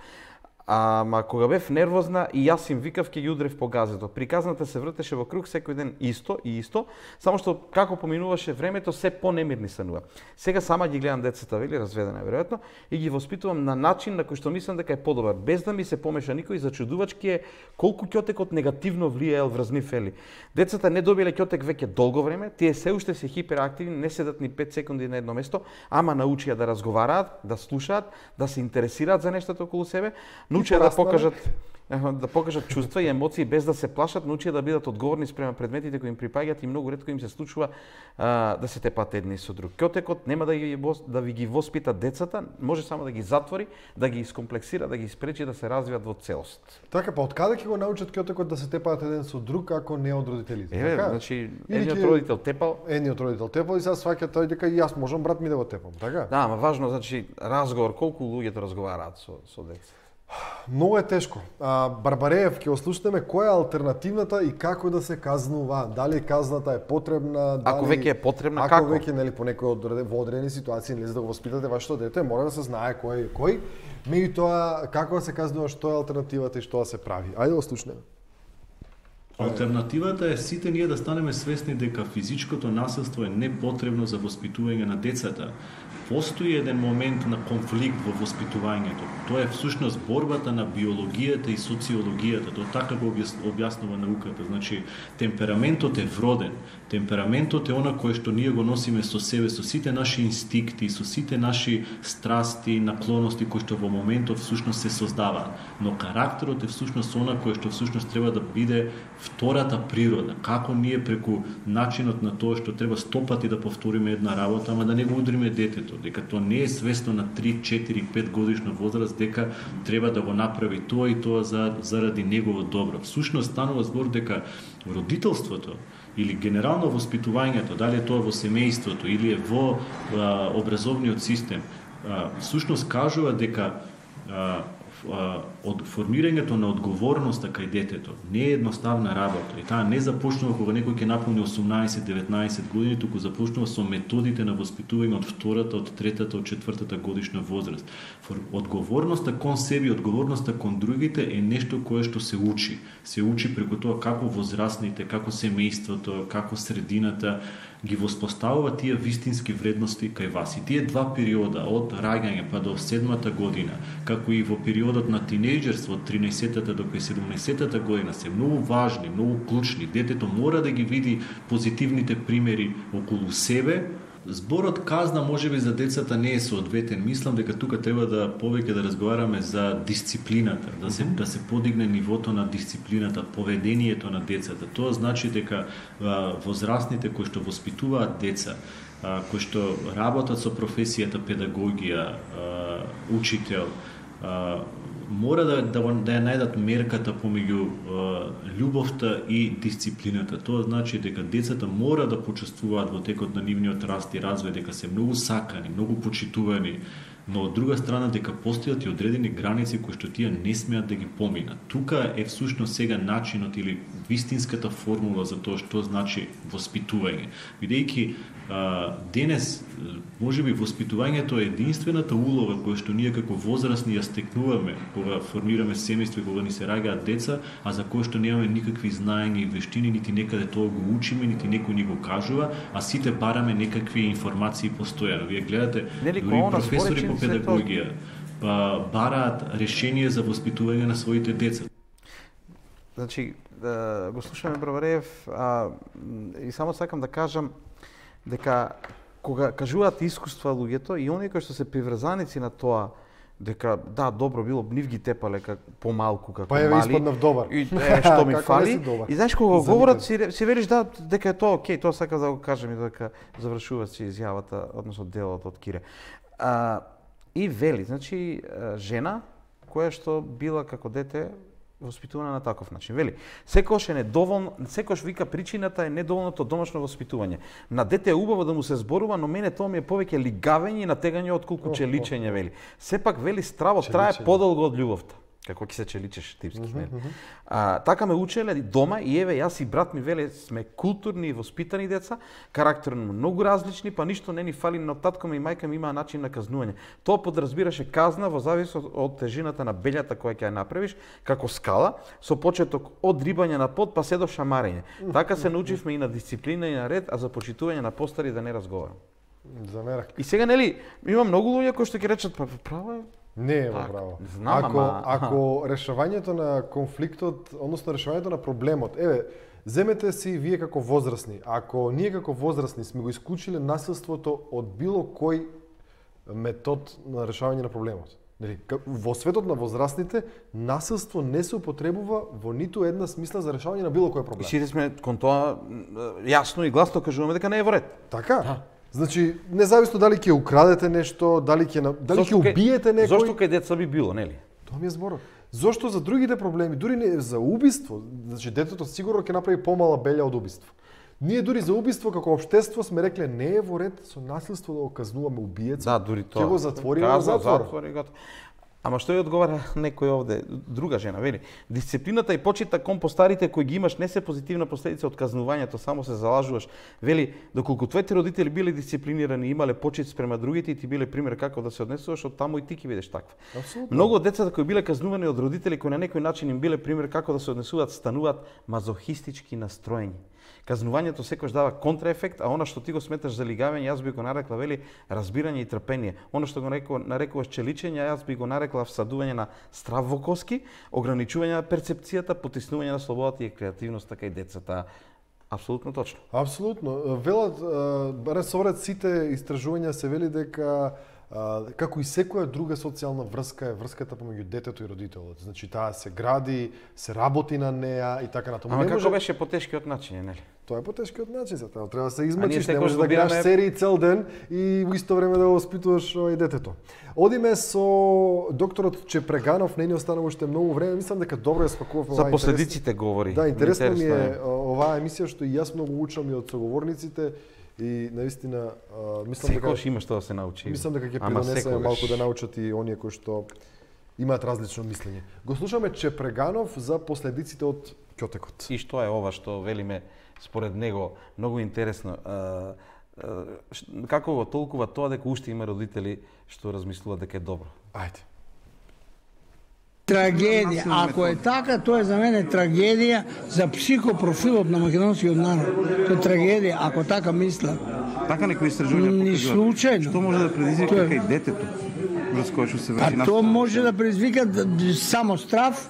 Ама кога бев нервозна и јас им викав ќе ги удрев по газето. Приказната се вртеше во круг секој ден исто и исто, само што како поминуваше времето се понемирни станува. Сега сама ги гледам децата, вели, разведена веројатно, и ги воспитувам на начин на кој што мислам дека е подобар, без да ми се помеша никој. Зачудувачки е колку ќотекот негативно влијаел врз нив, вели. Децата не добиле ќотек веќе долго време, тие се уште се хиперактивни, не седат ни 5 секунди на едно место, ама научија да разговараат, да слушаат, да се интересираат за нештата околу себе. Научија да покажат чувства и емоции без да се плашат, научија да бидат одговорни спрема предметите кои им припаѓаат и многу ретко им се случува да се тепаат едни со друг. Ќотекот нема да ви ги воспита децата, може само да ги затвори, да ги искомплексира, да ги спречи да се развијат во целост. Така, па откаде ќе го научат ќотекот да се тепаат еден со друг ако не од родителите? Значи едниот родител тепал, и сега сваќа тој дека и јас можам брат ми да го тепам, така? Да, ама важно значи разговор, колку луѓето разговараат со деца. Многу е тешко. Барбареев, ќе ослушнеме која е алтернативната и како да се казнува. Дали казната е потребна, дали... Ако веќе е потребна, како? Ако веќе, нели, по некој во одредени ситуации, нели, за да го воспитате вашето дете, мора да се знае кој. Меѓутоа, како да се казнува, што е алтернативата и што да се прави. Ајде да ослушнеме. Алтернативата е сите ние да станеме свесни дека физичкото насилство е непотребно за воспитување на децата. Постои еден момент на конфликт во воспитувањето. Тоа е всушност борбата на биологијата и социологијата. Тоа така го објаснува науката. Значи, темпераментот е вроден. Темпераментот е она кое што ние го носиме со себе, со сите наши инстикти, со сите наши страсти, наклоности кои што во моментот всушност се создаваат. Но карактерот е всушност она кое што всушност треба да биде втората природа. Како ние преку начинот на тоа што треба стопати да повториме една работа, ама да не го удриме детето, дека тоа не е свесно на 3, 4, 5 годишна возраст, дека треба да го направи тоа и тоа заради негово добро. Всушност станува збор дека родителството или генерално воспитувањето, дали е тоа во семејството или е во образовниот систем, всушност кажува дека од формирањето на одговорноста кај детето не е едноставна работа и таа не започнува кога некој ќе наполни 18-19 години, туку започнува со методите на воспитување од втората, од третата, од четвртата годишна возраст. Одговорноста кон себе, одговорноста кон другите е нешто кое што се учи. Се учи преку тоа како возрастните, како семејството, како средината ги воспоставува тие вистински вредности кај вас. И тие два периода, од раѓање па до 7-та година, како и во периодот на тинејџерство, од 13-та до 17-та година, се многу важни, многу клучни. Детето мора да ги види позитивните примери околу себе. Зборот казна можеби за децата не е соодветен. Мислам дека тука треба да повеќе да разговараме за дисциплината, да се подигне нивото на дисциплината, поведението на децата. Тоа значи дека возрастните кои што воспитуваат деца, кои што работат со професијата педагогија, учител, мора да ја најдат мерката помеѓу љубовта и дисциплината. Тоа значи дека децата мора да почувствуваат во текот на нивниот раст и развој дека се многу сакани, многу почитувани, но од друга страна дека постојат и одредени граници кои што тие не смеат да ги поминат. Тука е всушност сега начинот или вистинската формула за тоа што значи воспитување. Бидејќи денес можеби воспитувањето е единствената улога која што ние како возрастни ја стекнуваме кога формираме семејство и кога ни се раѓаат деца, а за кој што немаме никакви знаења и вештини, нити некаде тоа го учиме, нити некој ни го кажува, а сите бараме некакви информации постојано. Вие гледате, дури професори по педагогија бараат решение за воспитување на своите деца. Значи, го слушаме Бровареев, и само сакам да кажам дека кога кажуваат искуства луѓето и оние кои што се приврзаници на тоа дека да, добро било, нив ги тепале помалку како мали. Па испаднав добар. И што ми фали. И знаеш кога говорат си велиш да дека е тоа окей, тоа сакам да го кажам и дека завршува си изјавата, односно делот од Кире. И вели, значи жена која што била како дете воспитувана на таков начин. Вели, секојаш е недоволно, секојаш вика причината е недоволното домашно воспитување. На дете е убаво да му се зборува, но мене тоа ми е повеќе лигавење и натегање отколку челичење, вели. Сепак вели стравот трае подолго од љубовта. Како ќе се челичеш типски, нели? Така ме учеле дома и еве јас и брат ми веле сме културни и воспитани деца, карактерно многу различни, па ништо не ни фали, но татко ми и мајка ми имаа начин на казнување. Тоа подразбираше казна во зависност од тежината на белјата која ќе ја направиш, како скала, со почеток од рибање на под па се до шамарење. Така се научивме и на дисциплина и на ред, а за почитување на постари да не разговарам. Замерак. И сега нели има многу луѓе кои што ќе речат па право е. Не е во право. Ако решавањето на конфликтот, односно решавањето на проблемот, еве, земете си вие како возрастни. Ако ние како возрастни сме го исклучиле насилството од било кој метод на решавање на проблемот. Во светот на возрастните, насилство не се употребува во ниту една смисла за решавање на било кој проблем. И сите сме кон тоа јасно и гласно кажуваме дека не е во ред. Така. Значи, независно дали ќе украдете нешто, дали ќе убиете некој. Зошто кај деца би било, нели? Тоа ми е зборот. Зошто за другите проблеми, дури не за убиство, значи детето сигурно ќе направи помала белја од убиство. Ние дури за убиство како општество сме рекле не е во ред со насилство да го казнуваме убиеца. Да, дури тоа. Ќе го затвориме во затвор. Ама што ја одговара некој овде, друга жена, вели, дисциплината и почита кон постарите кои ги имаш не се позитивна последица од казнувањето, само се залажуваш. Вели, доколку твоите родители биле дисциплинирани и имале почит спрема другите и ти биле пример како да се однесуваш, од таму и ти ќе бидеш таква. Абсолютно. Многу од децата кои биле казнувани од родители кои на некој начин им биле пример како да се однесуваат, стануваат мазохистички настроени. Казнувањето секогаш дава контраефект, а она што ти го сметаш за лигавење, јас би го нарекла, вели, разбирање и трпение. Она што го нарекуваш челичење, јас би го нарекла всадување на страв во коски, ограничување на перцепцијата, потиснување на слободата и креативноста кај децата. Апсолутно точно. Апсолутно. Велат, барем собрат сите истражувања се вели дека како и секоја друга социјална врска е врската помеѓу детето и родителот. Значи таа се гради, се работи на неа и така натаму. Ама како беше потешкиот начин, нели? Тоа е потешкиот начин, затоа треба да се измачиш, не можеш да гледаш серии цел ден и во исто време да го воспитуваш детето. Одиме со докторот Чепреганов, не ни останува уште многу време, мислам дека добро ја спакувавме. За последиците говори. Да, интересно ми е оваа емисија што и јас многу учам и од соговорниците. И наистина мислам дека секогаш има што да се научи. Мислам дека ќе придонесе малку да научат и оние кои што имаат различно мислење. Го слушаме Чепреганов за последиците од ќотекот. И што е ова што велиме според него многу интересно. Како го толкува тоа дека уште има родители што размислуваат дека е добро? Ајде. Трагедија. Ако е така, тоа е за мене трагедија за психопрофилот на македонскиот народ. Тоа е трагедија, ако така мислат. Така некои истражувања Ни случајно. Што може да предизвика кај детето? Врз кое што се врши А тоа може да предизвика само страв,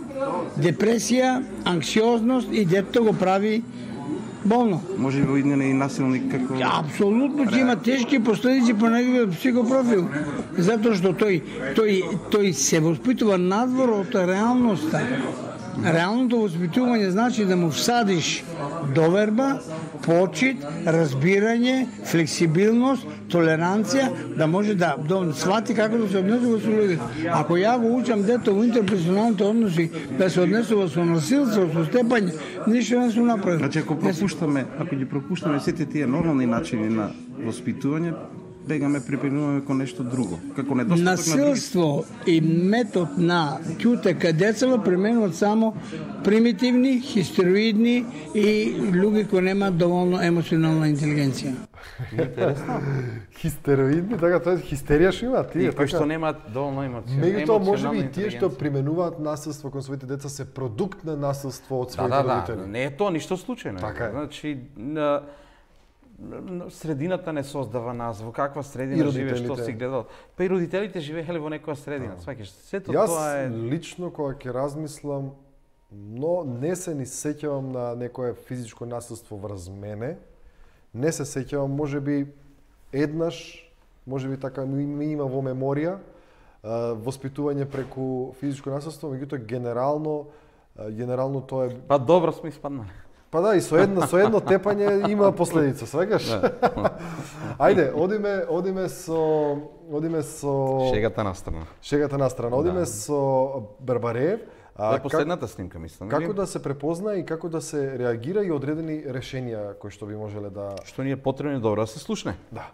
депресија, анксиозност и детето го прави болно. Може би идне и насилник како... Апсолутно ќе има тешки последици по неговиот психопрофил. Затоа што тој се воспитува надвор од реалноста. Реалното воспитување значи да му всадиш доверба, почит, разбирање, флексибилност, толеранција, да може да свати како да се однесува со луѓето. Ако ја го учам дето во интерперсоналните односи да се однесува со насилство, со степање, ништо не се направи. Значи ако ги пропуштаме сите тие нормални начини на воспитување, бегаме, припремнуваме кон нешто друго. Како недостаток насилство и метод на ќутека децава применуваат само примитивни, хистероидни и луѓе кои немаат доволно емоционална интелигенција. Интересно. Хистероидни, така тоа е хистерија што имаат тие, кои што немаат доволно емоционална интелигенција. Меѓутоа можеби и тие што применуваат насилство кон своите деца се продукт на насилство од своите родители. Да, не е тоа ништо случајно. Така е. Значи средината не создава нас, во каква средина живееш, што си гледал. Па и родителите живееле во некоја средина, сваќаш. Сето тоа е... Јас лично кога ќе размислам, но не се ни сеќавам на некое физичко насилство врз мене. Не се сеќавам, можеби еднаш, можеби така ми има во меморија воспитување преку физичко насилство, меѓутоа генерално тоа е... Па добро сме испаднале. Па да, и со едно тепање има последица, свегаш? Ајде, одиме со шегата на страна. Одиме со Барбареев. Тоа е последната снимка, мислам. Како да се препозна и како да се реагира и одредени решенија кои што би можеле да... Што ни е потребно добро да се слушне. Да.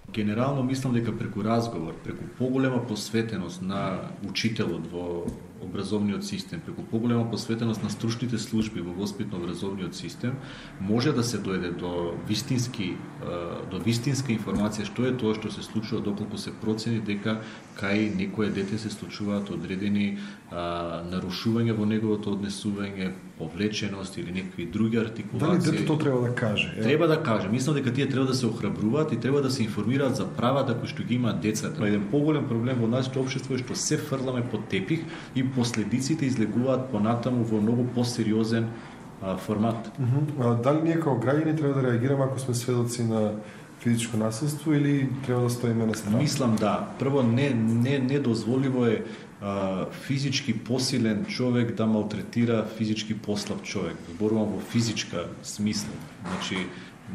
Генерално мислам дека преку разговор, преку поголема посветеност на учителот во образовниот систем, преку поголема посветеност на стручните служби во воспитно-образовниот систем, може да се дојде до вистинска информација што е тоа што се случува доколку се процени дека кај некое дете се случуваат одредени нарушувања во неговото однесување, повлеченост или некакви други артикулации. Дали детето треба да каже? Треба да каже. Мислам дека тие треба да се охрабруваат и треба да се информираат за правата кои што ги имаат децата. Еден поголем проблем во нашето општество е што се фрламе под тепих и последиците излегуваат понатаму во многу посериозен формат. Дали ние како граѓани треба да реагираме ако сме сведоци на физичко насилство или треба да стоиме на страна? Мислам да. Прво недозволиво е физички посилен човек да малтретира физички послаб човек. Зборувам во физичка смисла. Значи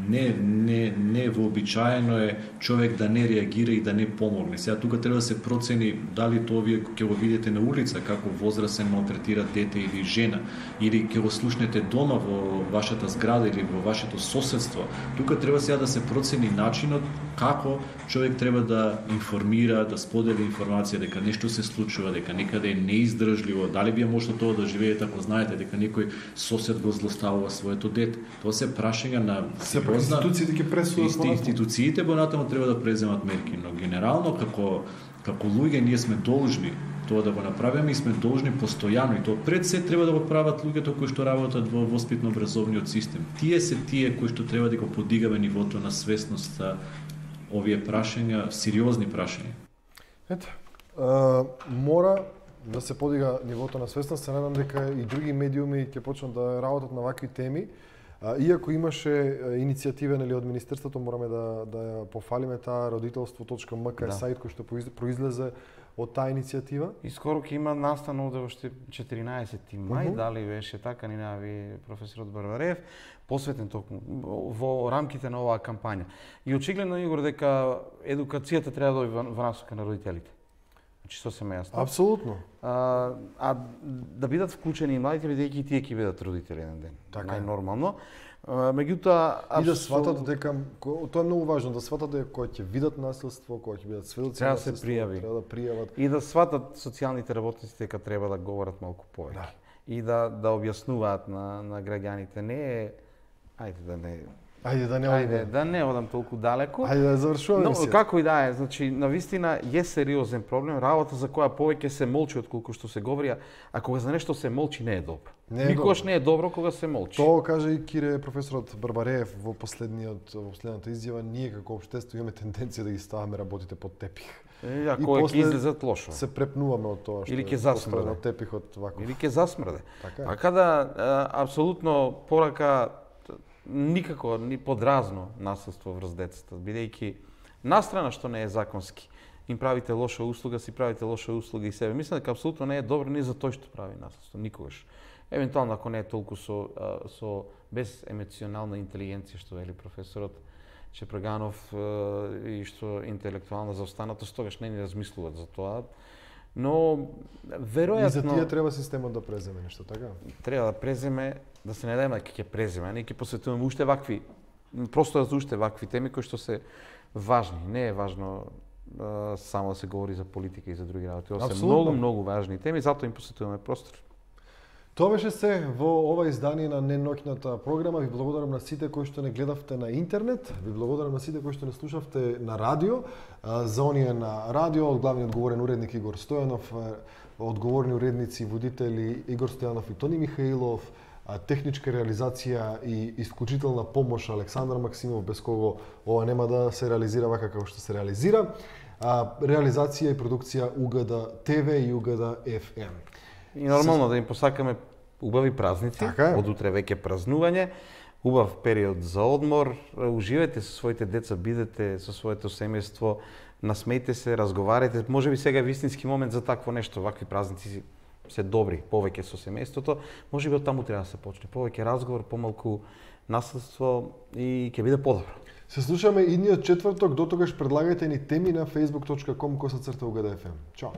не вообичаено е човек да не реагира и да не помогне. Сега тука треба да се процени дали тоа вие ќе го видите на улица како возрасен малтретира дете или жена, или ќе го слушнете дома во вашата зграда или во вашето соседство. Тука треба сега да се процени начинот како човек треба да информира, да сподели информација дека нешто се случува, дека некаде е неиздржливо, дали би може тоа да живеете ако знаете дека некој сосед го злоставува своето дете. Тоа се прашања на институциите ќе пресудат. Институциите понатаму треба да преземат мерки, но генерално како луѓе ние сме должни тоа да го направиме и сме должни постојано и тоа пред се треба да го прават луѓето кои што работат во воспитно-образовниот систем. Тие се тие кои што треба да го подигаме нивото на свесност за овие прашања, сериозни прашања. Ето, мора да се подига нивото на свесност, се надам дека и други медиуми ќе почнат да работат на вакви теми. Иако имаше иницијатива од Министерството, мораме да ја пофалиме таа родителство.мк е сајт кој што произлезе од таа иницијатива. И скоро ќе има настана овде уште 14 мај, дали беше така, ни најави професорот Барбареев, посветен токму во рамките на оваа кампања. И очигледно, Игор, дека едукацијата треба да дојде во насока на родителите. значи со семејство. Апсолутно. А да бидат вклучени и младите, бидејќи и тие ќе бидат родители еден ден. Така е. Најнормално. Меѓутоа и да сватат дека тоа е многу важно, да сватат дека кога ќе видат насилство, кога ќе бидат сведоци треба на да се насилство, пријави. треба да пријават И да сватат социјалните работници дека треба да говорат малку повеќе. Да. И да објаснуваат на граѓаните. Не е Ајде да не одам толку далеко. Ајде да завршуваме. Но како и да е, значи навистина е сериозен проблем, работа за која повеќе се молчи отколку што се говори, а кога за нешто се молчи не е добро. Никогаш не е добро кога се молчи. Тоа каже и Кире професорот Барбареев во последната изјава, ние како општество имаме тенденција да ги ставаме работите под тепих. Ако ќе излезат лошо. Се препнуваме од тоа што или ќе засмрде од тепихот вако. Или ќе засмрде. Така да апсолутно порака никако ни подразно насилство врз децата, бидејќи настрана што не е законски, им правите лоша услуга, си правите лоша услуга и себе. Мислам дека апсолутно не е добро ни за тој што прави насилство, никогаш. Евентуално ако не е толку со без емоционална интелигенција, што вели професорот Шепраганов, и што интелектуална заостанатост, тогаш не ни размислуваат за тоа. Но веројатно и за тие треба системот да преземе нешто, така? Треба да преземе, да се надеваме дека ќе преземе, не ќе посветуваме уште вакви, просто за уште вакви теми кои што се важни. Не е важно само да се говори за политика и за други работи. Ова се многу важни теми, затоа им посветуваме простор. Тоа беше се во ова издание на неноќната програма. Ви благодарам на сите кои што не гледавте на интернет, ви благодарам на сите кои што не слушавте на радио. За оние на радио, од главниот говорен уредник Игор Стојанов, одговорни уредници и водители Игор Стојанов и Тони Михаилов, техничка реализација и исклучителна помош Александар Максимов, без кого ова нема да се реализира вака како што се реализира. Реализација и продукција УГД ТВ и УГД FM. И нормално да им посакаме убави празници, од утре веќе празнување, убав период за одмор, уживајте со своите деца, бидете со своето семејство, насмејте се, разговарајте, можеби сега е вистински момент за такво нешто, вакви празници се добри, повеќе со семејството, можеби од таму треба да се почне, повеќе разговор, помалку насилство и ќе биде подобро. Се слушаме идниот четврток, дотогаш предлагајте ни теми на facebook.com/UGDFM. Чао!